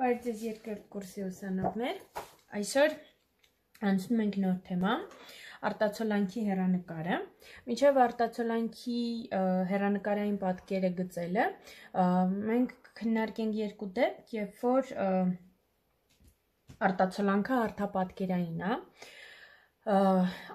Բարև ձեզ երկրորդ կուրսի ուսանողներ, այսօր անցնում ենք նոր թեմա, արտացոլանքի հեռանկարը, մինչև արտացոլանքի հեռանկարային պատկերը գծելը, մենք քննարկենք երկու դեպք, երբ որ արտացոլանքը հարթապատկերային է,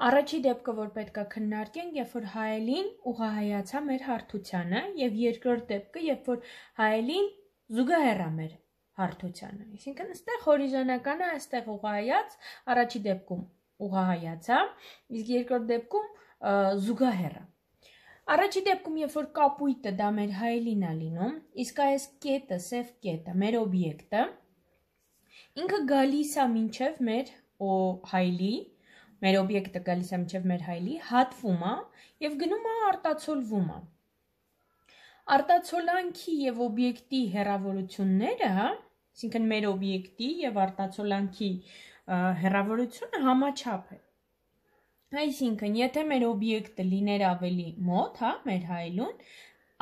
առաջի դեպքը, որ պետք է քննարկենք, երբ որ հայելին ուղղահայացա մեր հարթությանը, և երկրորդ դեպքը, երբ որ հայելին զուգահեռ է մեր հարթությանը, այսինքն այստեղ հորիզոնականը, այստեղ ուղղահայաց, առաջի դեպքում ուղղահայացա, իսկ երկրորդ դեպքում զուգահեռ է։ Առաջի դեպքում, երբ որ կապույտը դա մեր հայելին է լինում, իսկ այս կետը, սև կետը, մեր օբյեկտը, ինքը գալիս է մինչև մեր հայելի, մեր օբյեկտը գալիս է մինչև մեր հայելի, հատվում է և գնում է արտացոլվում է։ Արտացոլանքի և օբյեկտի հեռավորությունները, այսինքն մեր օբյեկտի և արտացոլանքի հեռավորությունը համաչափ է։ Այսինքն, եթե մեր օբյեկտը լիներ ավելի մոտ, մեր հայելուն,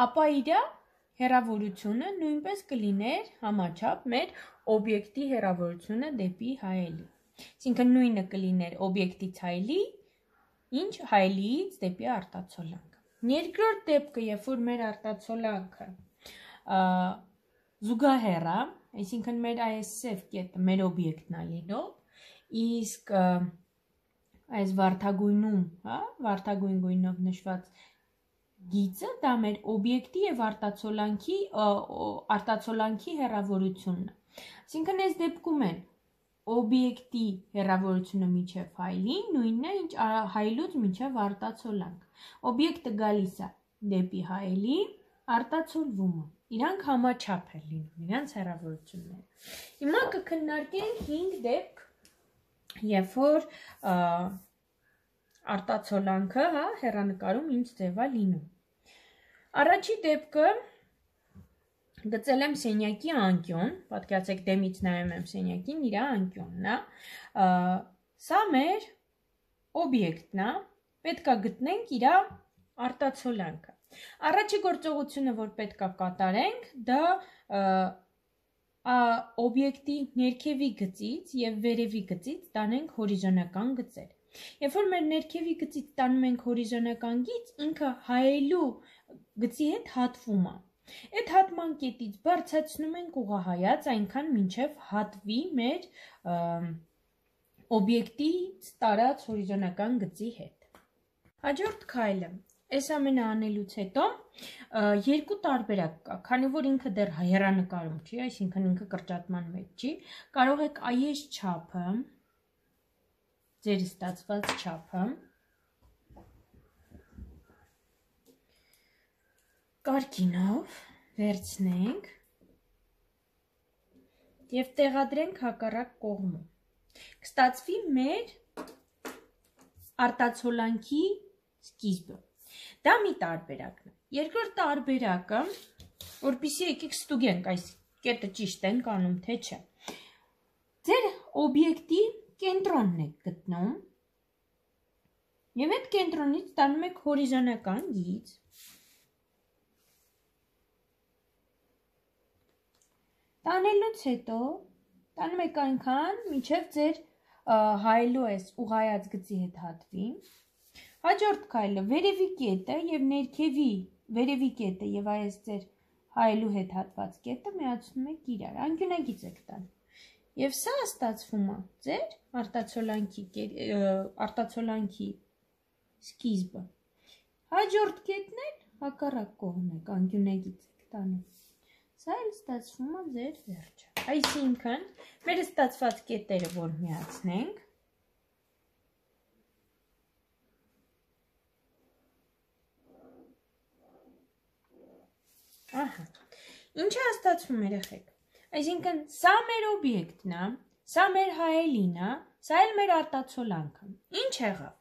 ապա իր հեռավորությունը նույնպես կլիներ համաչափ մեր օբյեկտի հեռավորությունը դեպի հայելի։ Այսինքն, նույնը կլիներ օբյեկտից հայելի, ինչ հայելիից դեպի արտացոլանք։ Երկրորդ դեպքը, երբ որ մեր արտացոլանքը զուգահեռ է, այսինքն մեր այս սև կետը մեր օբյեկտն է լինում, իսկ այս վարդագույնում, վարդագույն գույնով նշված գիծը դա մեր օբյեկտի և արտացոլանքի հեռավորությունն է։ Այսինքն այս դեպքում են օբյեկտի հեռավորությունը մինչև հայելի, նույնն է, ինչ հայելուց մինչև արտացոլանք։ Օբյեկտը գալիս է դեպի հայելի, արտացոլվում է։ Իրանք համաչափ են լինում, իրանց հեռավորությունները։ Հիմա կքննարկենք 5 դեպք, երբ որ արտացոլանքը հեռանկարում ինչ ձև է լինում։ Առաջի դեպքը գծել եմ սենյակի անկյուն, պատկերացրեք դեմից նայում եմ սենյակին, իր անկյունն է։ Սա մեր օբյեկտն է, պետք է գտնենք իր արտացոլանքը։ Առաջի գործողությունը, որ պետք է կատարենք, դա օբյեկտի ներքևի գծից և վերևի գծից տանենք հորիզոնական գծեր։ Երբ որ մեր ներքևի գծից տանում ենք հորիզոնական գիծ, ինքը հայելու գծի հետ հատվում է։ Այդ հատման կետից բարձրացնում ենք ուղղահայաց, այնքան մինչև հատվի մեր օբյեկտից տարած հորիզոնական գծի հետ։ Հաջորդ քայլը, այս ամենը անելուց հետո երկու տարբերակ կա, քանի որ ինքը դեռ հեռանկարում չի, այսինքն ինքը կրճատման մեջ չի, կարող եք այս չափը, ձեր ստացված չափը, կարգինով վերցնենք և տեղադրենք հակառակ կողմում։ Կստացվի մեր արտացոլանքի սկիզբը։ Դա մի տարբերակն է։ Երկրորդ տարբերակը, որպեսզի եկեք ստուգենք այս կետը ճիշտ ենք անում, թե չէ։ Ձեր օբյեկտի կենտրոնն եք գտնում և այդ կենտրոնից տանում եք հորիզոնական գիծ։ Տանելուց հետո տանում եք այնքան, մինչև ձեր հայելու այս ուղղահայաց գծի հետ հատվի։ Հաջորդ քայլը վերևի կետը և ներքևի վերևի կետը և այս ձեր հայելու հետ հատված կետը միացնում եք իրար, անկյունագիծ եք տանում։ Եվ սա ստացվում է ձեր արտացոլանքի սկիզբը։ Հաջորդ կետն էլ հակառակ կողմն եք, անկյունագիծ եք տանում։ Սա էլ ստացվում է ձեր վերջը։ Այսինքն, մեր ստացված կետերը, որ միացնենք, ինչ է ստացվում երեխեք, այսինքն սա մեր օբյեկտն է, սա մեր հայելին է, սա էլ մեր արտացոլանքը, ինչ եղավ,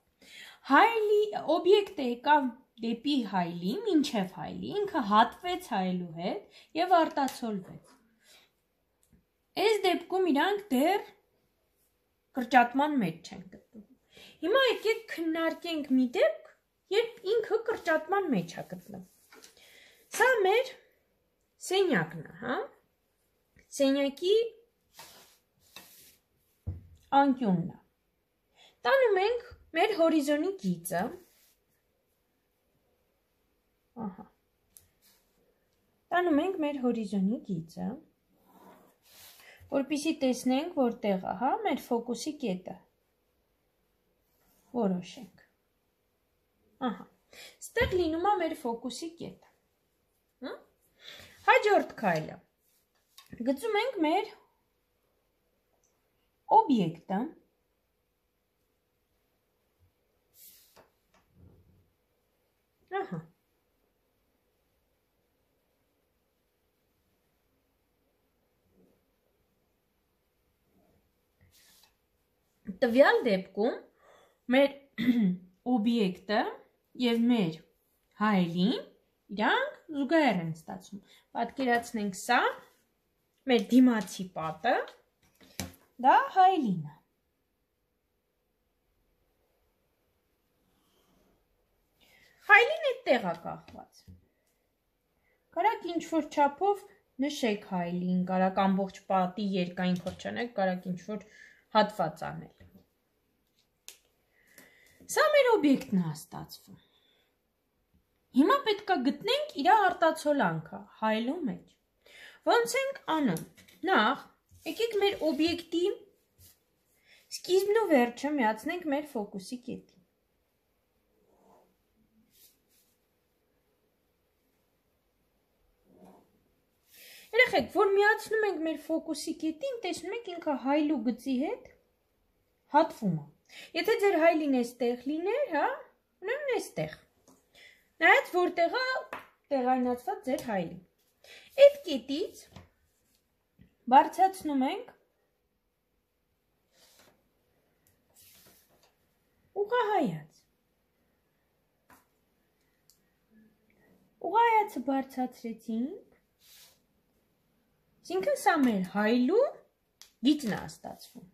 օբյեկտը եկավ դեպի հայելի, մինչև հայելի, ինքը հատվեց հայելու հետ և արտացոլվեց, այս դեպքում իրանք դեռ կրճատման մեջ չեն գտնվում, հիմա եկեք քննարկենք մի դեպք, երբ ինքը կրճատման մեջ է գտնվում, սա մեր սենյակն է, Սենյակի անկյունն է։ Տանում ենք մեր հորիզոնի գիծը, տանում ենք մեր հորիզոնի գիծը, որպեսզի տեսնենք, որտեղ է, մեր ֆոկուսի կետը, որոշենք, ստեղ լինում է մեր ֆոկուսի կետը, հաջորդ քայլը, գծում ենք մեր օբյեկտը, տվյալ դեպքում մեր օբյեկտը և մեր հայելին իրանք զուգահեռ են ստացվում։ Պատկերացնենք սա, մեր դիմացի պատը, դա հայելինը։ Հայելին այդտեղ է կախված։ Կարաք ինչ-որ չափով նշեք հայելին, կարաք ամբողջ պատի երկայն փորձանեք, կարաք ինչ-որ հատված անել։ Սա մեր օբյեկտն է ստացվում։ Հիմա պետք է գտնենք իր արտացոլանքը հայելու մեջ։ Ոնց ենք անում։ Նախ, եկեք մեր օբյեկտի սկիզբն ու վերջը միացնենք մեր ֆոկուսի կետին։ Երեխեք, որ միացնում ենք մեր ֆոկուսի կետին, տեսնում եք ինքը հայլու գծի հետ հատվում է։ Եթե ձեր հայլին էստեղ լիներ, ուրեմն էստեղ։ Նայած որտեղ է տեղայնացված ձեր հայլին։ Այդ կետից բարձրացնում ենք ուղղահայաց։ Ուղղահայացը բարձրացրեցինք, այսինքն սա մեր հայլու գիծն է ստացվում։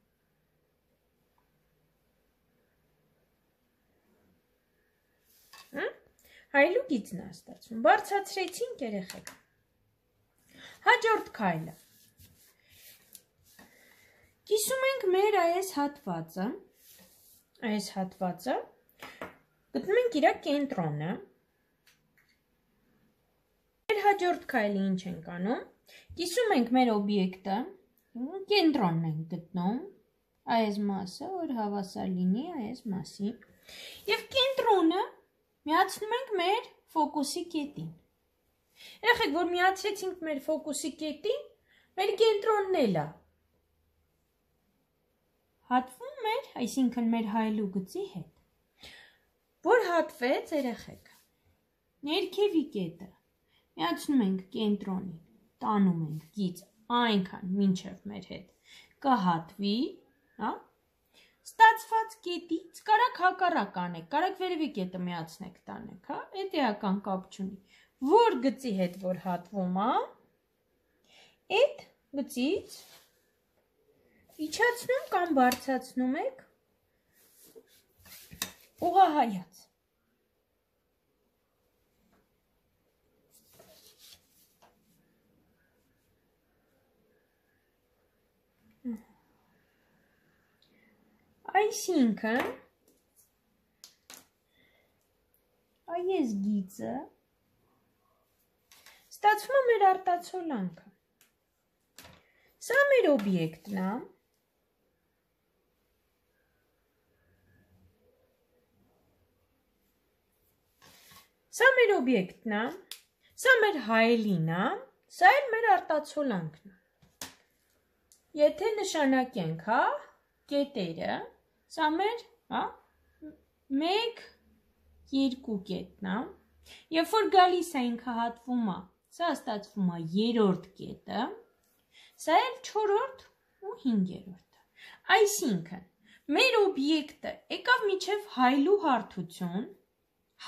Հայլու գիծն է ստացվում, բարձրացրեցինք երեխեք։ Հաջորդ քայլը։ Կիսում ենք մեր այս հատվածը, գտնում ենք իր կենտրոնը։ Մեր հաջորդ քայլը ինչ ենք անում, կիսում ենք մեր օբյեկտը, կենտրոնն ենք գտնում, այս մասը, որ հավասար լինի այս մասի, և կենտրոնը միացնում ենք մեր ֆոկուսի կետին։ Երեխեք, որ միացրեցինք մեր ֆոկուսի կետին, մեր կենտրոնն էլ է հատվում մեր, այսինքն մեր հայելու գծի հետ, որ հատվեց երեխեք, ներքևի կետը միացնում ենք կենտրոնին, տանում ենք գիծ այնքան մինչև մեր հետ կհատվի, ստացված կետից կարաք հակառակ անեք, կարաք վերևի կետը միացնեք տանեք, էդ էական կապ չունի, որ գծի հետ որ հատվում է, էդ գծից իջացնում կամ բարձրացնում եք ուղղահայաց։ Այսինքն, այս գիծը ստացվում է մեր արտացոլանքը։ Սա մեր օբյեկտն է։ Սա մեր օբյեկտն է, սա մեր հայելին է, սա էլ մեր արտացոլանքն է։ Եթե նշանակենք, կետերը, սա մեր 1, 2 կետն է, երբ որ գալիս է ինքը հատվում է, սա ստացվում է 3-րդ կետը, սա էլ 4-րդ ու 5-րդը։ Այսինքն, մեր օբյեկտը եկավ մինչև հայլու հարթություն,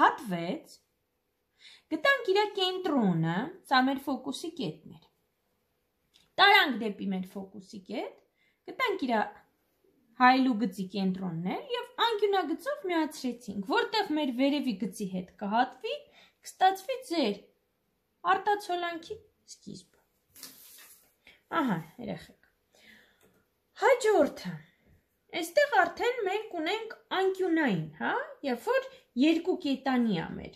հատվեց, գտանք իր կենտրոնը, սա մեր ֆոկուսի կետն էր։ Տարանք դեպի մեր ֆոկուսի կետ, գտանք իր հայլու գծի կենտրոնն էր և անկյունագծով միացրեցինք, որտեղ մեր վերևի գծի հետ կհատվի, կստացվի ձեր արտացոլանքի սկիզբը։ Ահա, երեխեք։ Հաջորդը, այստեղ արդեն մենք ունենք անկյունային, հա, երբ որ երկու կետանի է մեր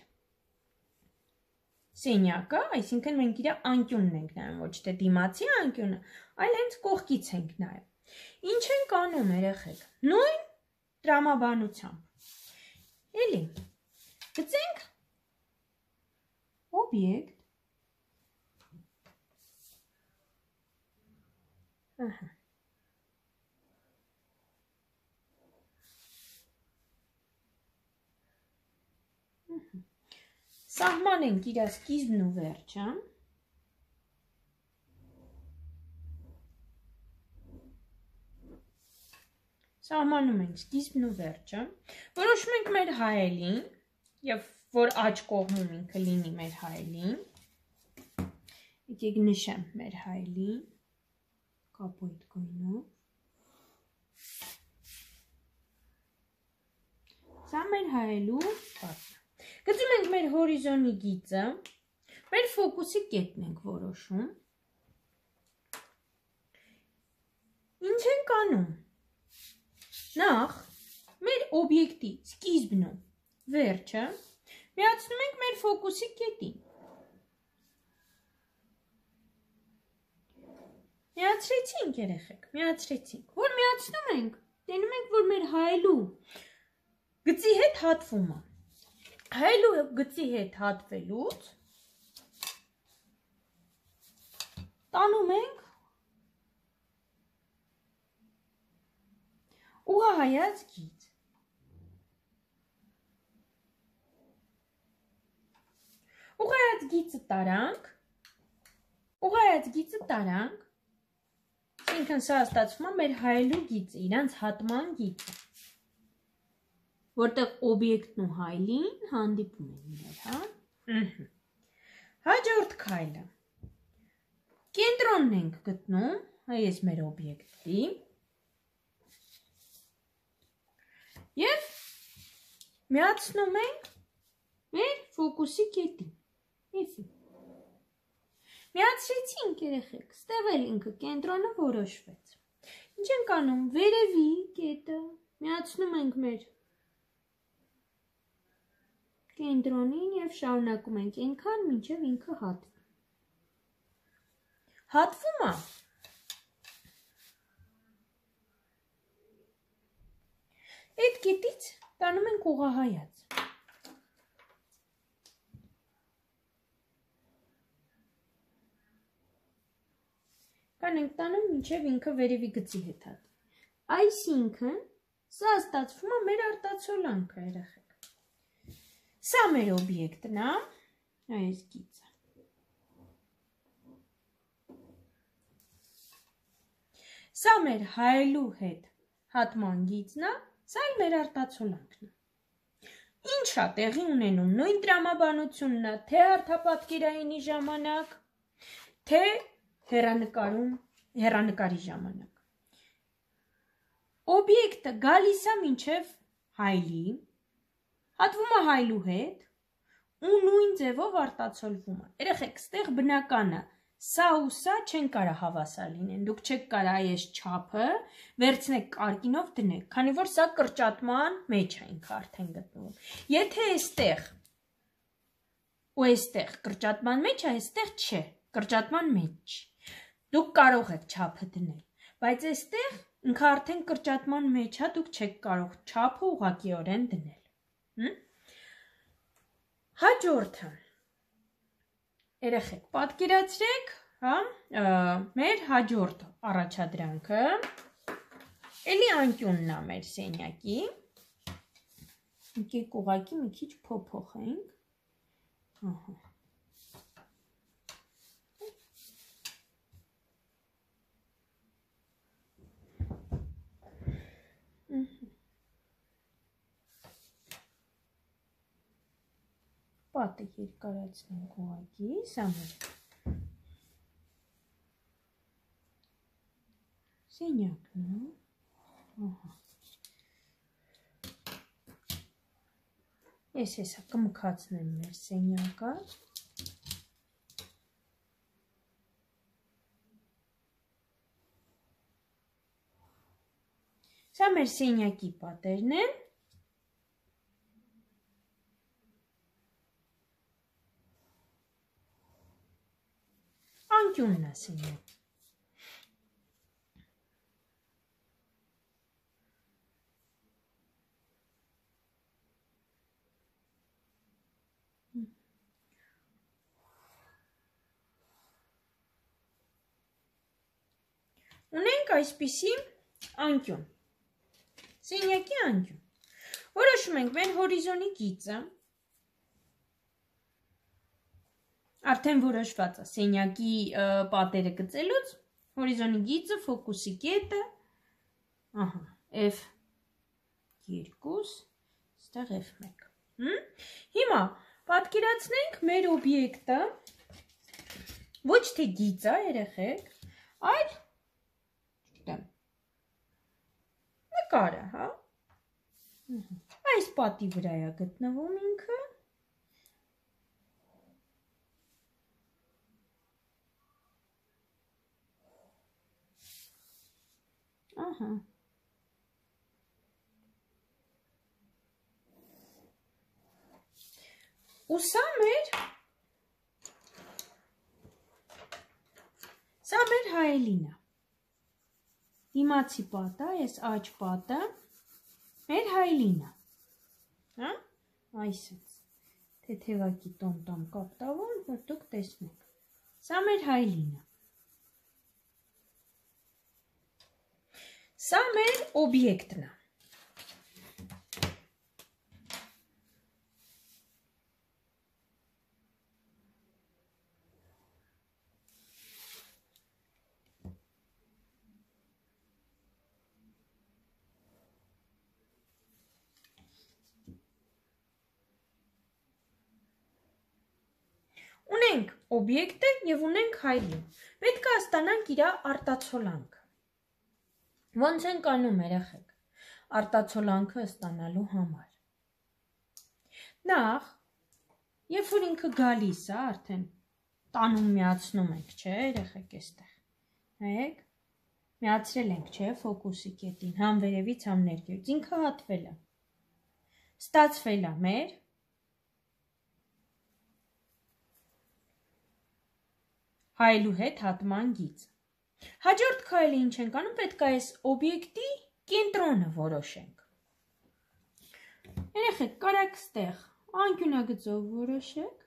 սենյակը, այսինքն մենք իր անկյունն ենք նայում, ոչ թե դիմացի անկյունը, այլ հենց կողքից ենք նայում։ Ինչ ենք անում, երեխեք։ Նույն տրամաբանությամբ։ Էլի, գծենք օբյեկտ։ Ահա։ Սահմանենք իր սկիզբն ու վերջը։ Սահմանում ենք սկիզբն ու վերջը։ Որոշում ենք մեր հայելին, եւ որ աջ կողմում ինքը լինի մեր հայելին։ Եկեք նշեմ մեր հայելին կապույտ գույնով։ Սա մեր հայելու պատը։ Գծում ենք մեր հորիզոնի գիծը, մեր ֆոկուսի կետն ենք որոշում։ Ինչ ենք անում։ Նախ մեր օբյեկտի սկիզբն ու վերջը միացնում ենք մեր ֆոկուսի կետին։ Միացրեցինք երեխեք, միացրեցինք։ Որ միացնում ենք, տենում ենք, որ մեր հայելու գծի հետ հատվում է։ Հայելու գծի հետ հատվելուց տանում ենք ուղղահայաց գիծ։ Ուղղահայաց գիծը տարանք, ինքն սա ստացվում է մեր հայելու գիծը, իրանց հատման գիծը, որտեղ օբյեկտն ու հայելին հանդիպում են իրար, հա։ Հաջորդ քայլը։ Կենտրոնն ենք գտնում, այս մեր օբյեկտի, եւ միացնում ենք մեր ֆոկուսի կետին։ Էսի։ Միացրեցինք երեխեք, ստեղ էլ ինքը կենտրոնը որոշվեց։ Ինչ ենք անում, վերևի կետը միացնում ենք մեր կենտրոնին եւ շարունակում ենք այնքան, մինչեւ ինքը հատվի։ Հատվում է։ Այդ կետից տանում ենք ուղղահայաց։ Կան ենք տանում, մինչև ինքը վերևի գծի հետ հատվի։ Այսինքն, սա ստացվում է մեր արտացոլանքը, երեխեք։ Սա մեր օբյեկտն է, այս գիծը։ Սա մեր հայելու հետ հատման գիծն է, սա էլ մեր արտացոլանքն է։ Ինչ է տեղի ունենում, նույն տրամաբանությունն է, թե հարթապատկերայինի ժամանակ, թե հեռանկարի ժամանակ։ Օբյեկտը գալիս է մինչև հայելի, հատվում է հայելու հետ ու նույն ձևով արտացոլվում է։ Երեխեք, ստեղ բնականը սա ու սա չեն կարող հավասար լինեն։ Դուք չեք կարող այս չափը վերցնեք կարկինով դնեք, քանի որ սա կրճատման մեջ է ինքը արդեն գտնվում։ Եթե այստեղ ու այստեղ կրճատման մեջ է, այստեղ չէ, կրճատման մեջ չի։ Դուք կարող եք չափը դնել, բայց այստեղ ինքը արդեն կրճատման մեջ է, դուք չեք կարող չափը ուղղակիորեն դնել։ Հաջորդը, երեխեք, պատկերացրեք, հա, մեր հաջորդ առաջադրանքը, էլի անկյունն է մեր սենյակի, եկեք ուղղակի մի քիչ փոփոխենք, ահա։ Պատը երկարացնենք ուղղակի, սա մեր սենյակն է, ահա։ Ես հեսա կմքացնեմ մեր սենյակը, Սա մեր սենյակի պատերն են։ Անկյունն է սենյակ։ Ունենք այսպիսի անկյուն, սենյակի անկյուն, որոշում ենք մեր հորիզոնի գիծը, արդեն որոշված է սենյակի պատերը գծելուց, հորիզոնի գիծը, ֆոկուսի կետը, F2, ստեղ F1, հիմա պատկերացնենք մեր օբյեկտը, ոչ թե գիծը երեխեք, այլ նկարը, հա, այս պատի վրա է գտնվում ինքը, ու սա մեր հայելին է, դիմացի պատը, այս աջ պատը, մեր հայելին է, այսից, թեթևակի տոմտամ կապտավոն, որ դուք տեսնեք, սա մեր հայելին է, սա մեր օբյեկտն է, ունենք օբյեկտը և ունենք հայելին, պետք է ստանանք իր արտացոլանքը, ոնց ենք անում երեխեք, արտացոլանքը ստանալու համար, նախ, երբ որ ինքը գալիս է, արդեն տանում միացնում ենք, չէ երեխեք էստեղ, նայեք, միացրել ենք, չէ, ֆոկուսի կետին, համ վերևից, համ ներքևից, ինքը հատվել է, ստացվել է մեր հայելու հետ հատման գիծը, հաջորդ քայլը ինչ ենք անում, պետք է այս օբյեկտի կենտրոնը որոշենք, երեխեք, կարաք ստեղ անկյունագծով որոշեք,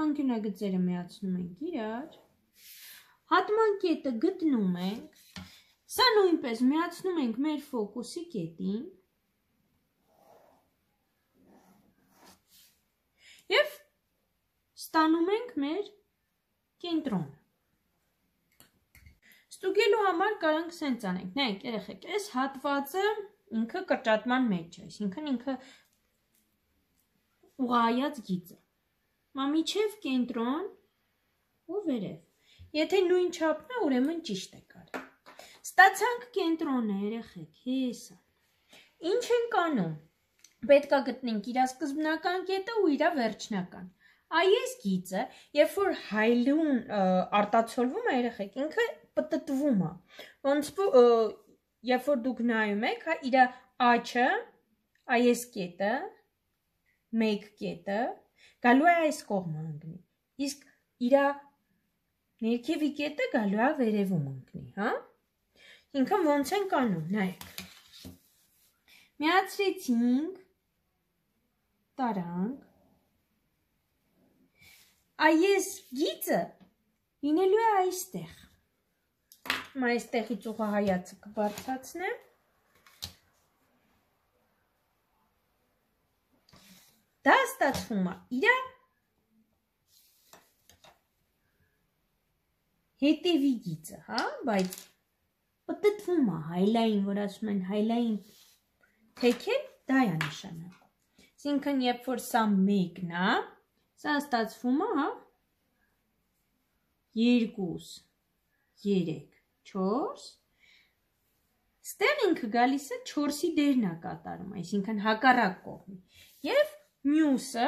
անկյունագծերը միացնում ենք իրար, հատման կետը գտնում ենք, սա նույնպես միացնում ենք մեր ֆոկուսի կետին և ստանում ենք մեր կենտրոնը, ստուգելու համար կարանք սենց անենք, նայեք երեխեք, այս հատվածը ինքը կրճատման մեջ է, այսինքն ինքը ուղղայած գիծ է, մինչև կենտրոն ու վերև, եթե նույն չափն է, ուրեմն ճիշտ է կարել, ստացանք կենտրոնը երեխեք, հեսա, ինչ ենք անում, պետք է գտնենք իր սկզբնական կետը ու իր վերջնական, այս գիծը, երբ որ հայելուն արտացոլվում է երեխեք, ինքը պտտվում է, ոնց երբ որ դուք նայում եք, իր աչը, այս կետը, մեկ կետը, գալու է այս կողմը ընկնի, իսկ իր ներքևի կետը գալու է վերևում ընկնի, հա, ինքն ոնց ենք անում, նայեք, միացրեցինք, տարանք, այս գիծը լինելու է այստեղ, այստեղից ուղղահայացը կբարձրացնեմ, դա ստացվում է իր հետևի գիծը, հա, բայց պտտվում է հայլային, որ ասում են հայլային թեքել, դա է նշանակում, այսինքն երբ որ սա մեկն է, սա ստացվում է, հա, 2, 3, 4, ստեղ ինքը գալիս է 4-ի դերն է կատարում, այսինքն հակառակ կողմի, և մյուսը,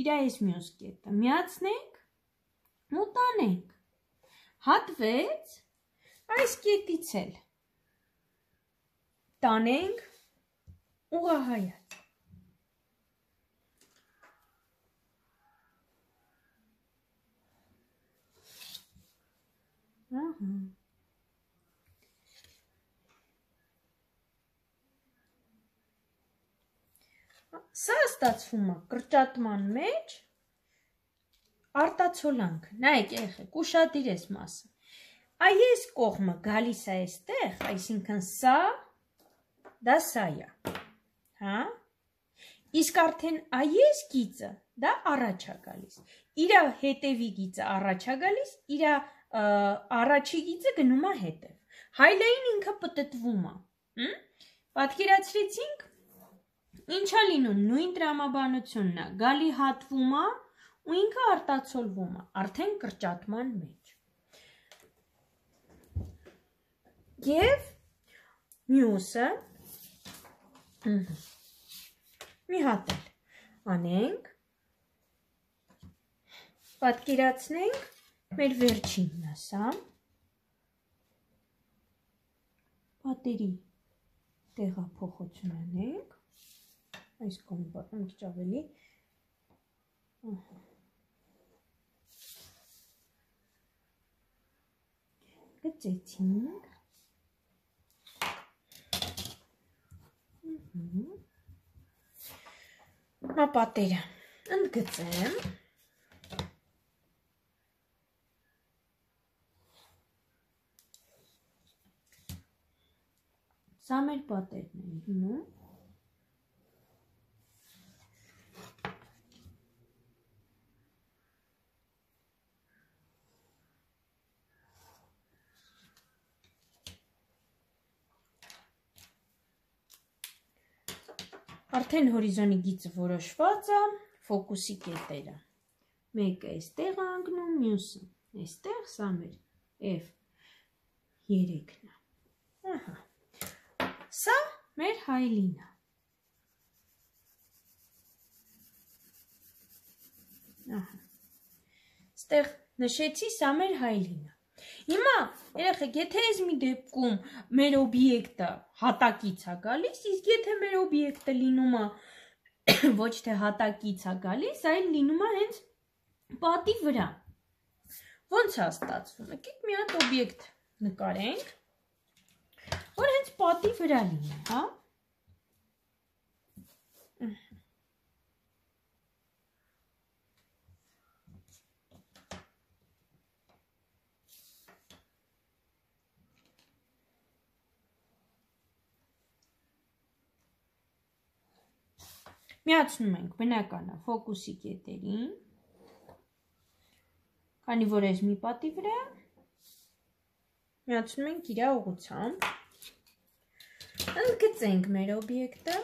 իր այս մյուս կետը, միացնենք ու տանենք, հատվեց այս կետից էլ, տանենք ուղղահայաց։ Սա ստացվում է կրճատման մեջ արտացոլանք, նայեք երեխեք, ուշադիր ես մասը։ Այս կողմը գալիս է այստեղ, այսինքն սա, դա սա է, հա? Իսկ արդեն այս գիծը, դա առաջ է գալիս։ Իր հետևի գիծը առաջ է գալիս, իր առաջի գիծը գնում է հետև։ Հայլային ինքը պտտվում է։ Պատկերացրեցինք, ինչա լինում, նույն տրամաբանությունն է, գալի հատվում է ու ինքը արտացոլվում է, արդեն կրճատման մեջ։ Եվ մյուսը մի հատ էլ անենք, պատկերացնենք մեր վերջինն ասա, պատերի տեղափոխություն անենք, այս կոմբը մի քիչ ավելի, գծեցինք, պատերը ընդգծեմ, սա մեր պատերն են լինում, արդեն հորիզոնի գիծը որոշված է, ֆոկուսի կետերը։ Մեկը այստեղ է անգնում, մյուսը այստեղ, սա մեր F3-ն է։ Ահա։ Սա մեր հայլին է։ Ահա։ Ստեղ նշեցի, սա մեր հայլին է։ Հիմա, երեխեք, եթե այս մի դեպքում մեր օբյեկտը հատակից է գալիս, իսկ եթե մեր օբյեկտը լինում է ոչ թե հատակից է գալիս, այլ լինում է հենց պատի վրա։ Ոնց է ստացվում։ Եկեք մի հատ օբյեկտ նկարենք, որ հենց պատի վրա լինի, հա։ Միացնում ենք բնականա ֆոկուսի կետերին, քանի որ այս մի պատի վրա, միացնում ենք իր ուղղությամբ, ընդգծենք մեր օբյեկտը,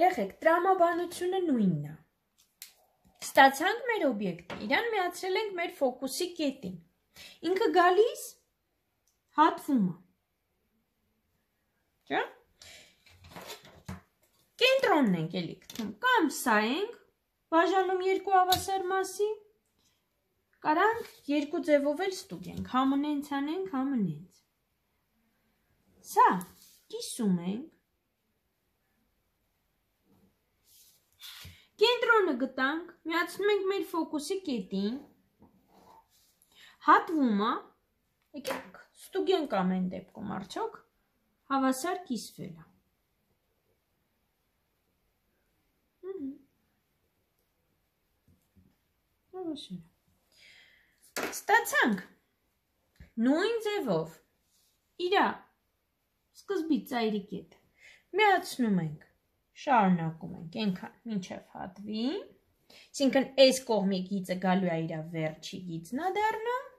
Երեխեք, տրամաբանությունը նույնն է։ Ստացանք մեր օբյեկտը, իրան միացրել ենք մեր ֆոկուսի կետին։ Ինքը գալիս հատվում է։ Չէ՞։ Կենտրոնն ենք էլի գտնում, կամ սա ենք, բաժանում երկու հավասար մասի, կարանք երկու ձևով էլ ստուգենք, համընենց անենք, համընենց։ Սա կիսում ենք, կենտրոնը գտանք, միացնում ենք մեր ֆոկուսի կետին, հատվում է, եկեք ստուգենք ամեն դեպքում արդյոք հավասար կիսվել է։ Ստացանք նույն ձևով իրա սկզբից ծայրի կետ միացնում ենք, շարունակում ենք ենքան մինչև հատվի, այսինքն այս կողմի գիծը գալու է իր վերջի գիծն է դառնում,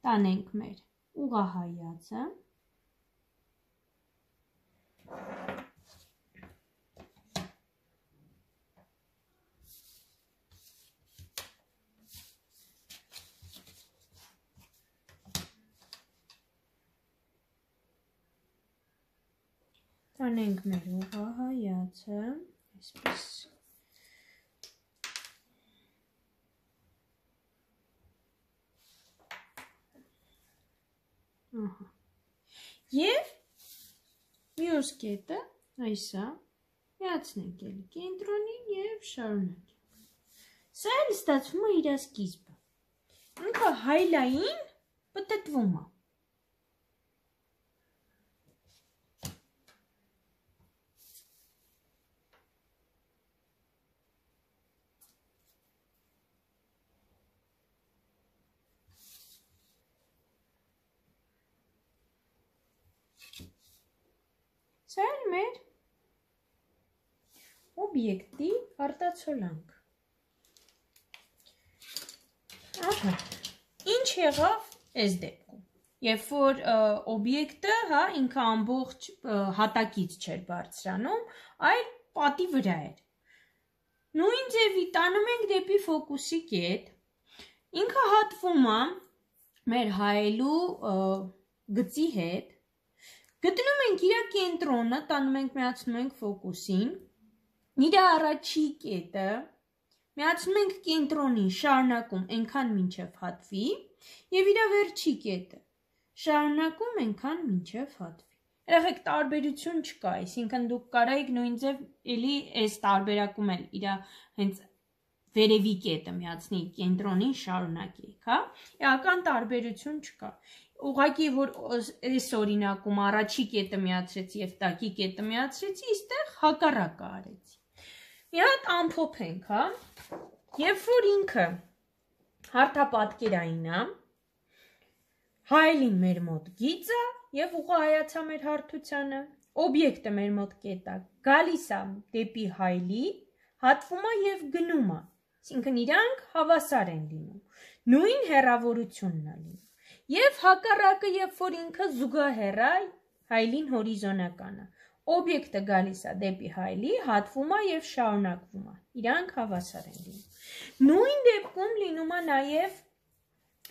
տանենք մեր ուղղահայացը, անենք մեր ուղղահայացը, այսպես Եվ մյուս կետը այսա միացնենք էլի կենտրոնին և շարունակենք։ Սա էլ ստացվում է իր սկիզբը։ Ինքը հայլային պտտվում է։ Սա էլ մեր օբյեկտի արտացոլանք։ Ահա, ինչ եղավ այս դեպքում։ Երբ որ օբյեկտը, հա, ինքը ամբողջ հատակից չէր բարձրանում, այլ պատի վրա էր։ Նույն ձևի տանում ենք դեպի ֆոկուսի կետ, ինքը հատվում է մեր հայելու գծի հետ, գտնում ենք իր կենտրոնը, տանում ենք, միացնում ենք ֆոկուսին, իր առաջի կետը, միացնում ենք կենտրոնին, շարունակում այնքան մինչև հատվի, և իր վերջի կետը, շարունակում այնքան մինչև հատվի։ Երեխեք տարբերություն չկա, այսինքն դուք կարայիք նույն ձև էլի այս տարբերակում էլ իր հենց վերևի կետը միացնի կենտրոնին շարունակեիք, հա, էական տարբերություն չկա։ Ուղղակի, որ այս օրինակում առաջի կետը միացրեցի և տակի կետը միացրեցի, իստեղ հակառակը արեցի։ Մի հատ ամփոփենք, հա, երբ որ ինքը հարթապատկերային է, հայելին մեր մոտ գիծ է և ուղղահայացա մեր հարթությանը, օբյեկտը մեր մոտ կետ է, գալիս է դեպի հայելի, հատվում է և գնում է, այսինքն իրանք հավասար են լինում, նույն հեռավորությունն է լինում, և հակառակը, երբ որ ինքը զուգահեռ է հայելին հորիզոնական է, օբյեկտը գալիս է դեպի հայելի, հատվում է և շարունակվում է, իրանք հավասար են լինում։ Նույն դեպքում լինում է նաև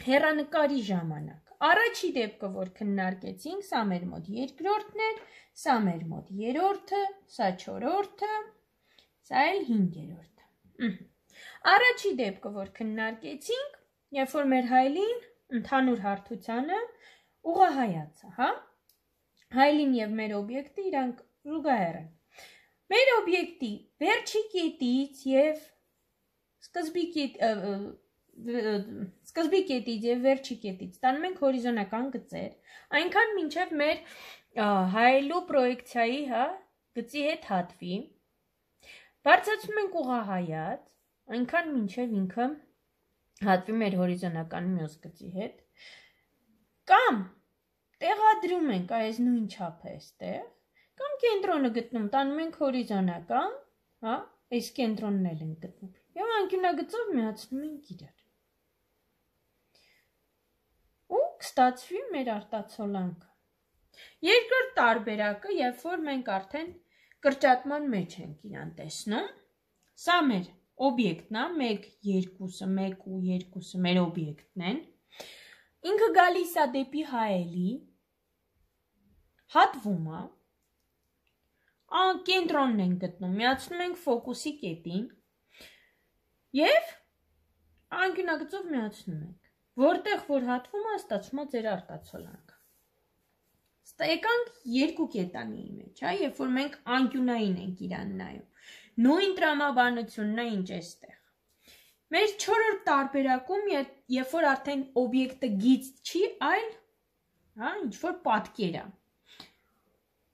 հեռանկարի ժամանակ։ Առաջի դեպքը, որ քննարկեցինք, սա մեր մոտ երկրորդն էր, սա մեր մոտ երրորդը, սա չորրորդը, սա էլ հինգերորդը։ Առաջի դեպքը, որ քննարկեցինք, երբ որ մեր հայելին ընդհանուր հարթությանը ուղղահայաց է, հա? Հայելին և մեր օբյեկտը իրանք զուգահեռ են։ Մեր օբյեկտի վերջի կետից և սկզբի կետից և վերջի կետից տանում ենք հորիզոնական գծեր, այնքան մինչև մեր հայելու պրոյեկցիայի, հա, գծի հետ հատվի, բարձրացնում ենք ուղղահայաց, այնքան մինչև ինքը հատվի մեր հորիզոնական մյուս գծի հետ, կամ տեղադրում ենք այս նույն չափը այստեղ, կամ կենտրոնը գտնում, տանում ենք հորիզոնական, հա, այս կենտրոնն էլ ենք գտնում, և անկյունագծով միացնում ենք իրար։ Ու կստացվի մեր արտացոլանքը։ Երկրորդ տարբերակը, երբ որ մենք արդեն կրճատման մեջ ենք իրան տեսնում, սա մեր օբյեկտն է, 1, 2-ը, 1 ու 2-ը մեր օբյեկտն են, ինքը գալիս է դեպի հայելի, հատվում է, կենտրոնն ենք գտնում, միացնում ենք ֆոկուսի կետին և անկյունագծով միացնում ենք, որտեղ որ հատվում է, ստացվում է ձեր արտացոլանքը։ Եկանք երկու կետանի մեջ, երբ որ մենք անկյունային ենք իրան նայում, նույն տրամաբանությունն է ինչ էստեղ։ Մեր չորրորդ տարբերակում, երբ որ արդեն օբյեկտը գիծ չի, այլ ինչ-որ պատկեր է։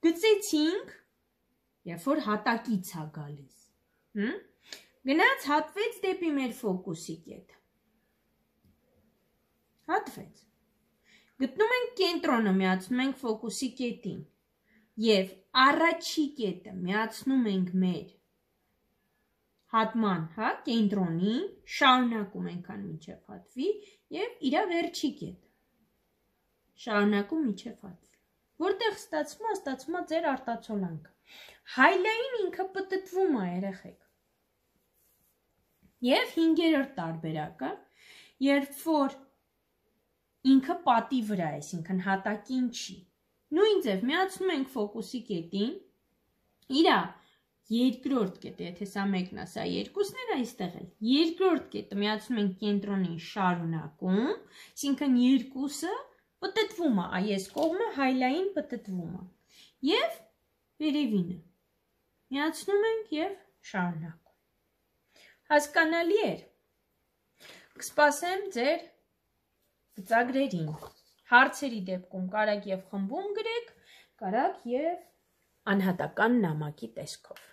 Գծեցինք, երբ որ հատակից է գալիս, գնաց հատվեց դեպի մեր ֆոկուսի կետը, հատվեց, գտնում ենք կենտրոնը, միացնում ենք ֆոկուսի կետին և առաջի կետը միացնում ենք մեր հատման, կենտրոնին, շարունակում ենքան մինչև հատվի և իրա վերջի կետը, շարունակում մինչև հատվի, որտեղ ստացվում է ձեր արտացոլանքը։ Հայլային ինքը պտտվում է, երեխեք։ Եվ հինգերորդ տարբերակը, երբ որ ինքը պատի վրա է, այսինքն հատակին չի, նույն ձև միացնում ենք ֆոկուսի կետին իրա երկրորդ կետը, եթե սա մեկն է, սա երկուսն էր այստեղ էլ, երկրորդ կետը միացնում ենք կենտրոնին շարունակում, այսինքն երկուսը պտտվում է, այս կողմը հայլային պտտվում է, և վերևինը միացնում ենք և շարունակում, հասկանալի էր, կսպասեմ ձեր ծրագրերին, հարցերի դեպքում կարաք և խմբում գրեք, կարաք և անհատական նամակի տեսքով։